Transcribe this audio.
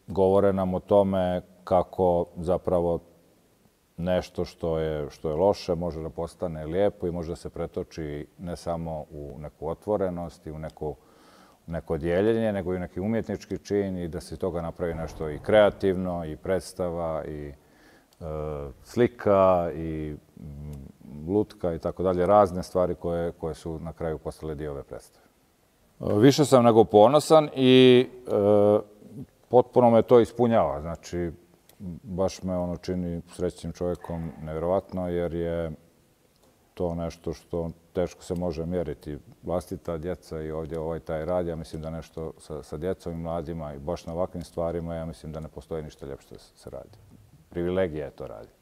govore nam o tome kako zapravo nešto što je loše može da postane lijepo i može da se pretoči ne samo u neku otvorenost i u neko dijeljenje, nego i u neki umjetnički čin i da se toga napravi nešto i kreativno, i predstava, i slika, i lutka i tako dalje. Razne stvari koje su na kraju postale dio ove predstave. Više sam nego ponosan i potpuno me to ispunjava. Znači, baš me čini srećnim čovjekom nevjerovatno, jer je to nešto što teško se može mjeriti. Vlastita djeca i ovdje taj rad, ja mislim da nešto sa djecom i mladima i baš na ovakvim stvarima, ja mislim da ne postoji ništa ljepše što se radi. Privilegija je to raditi.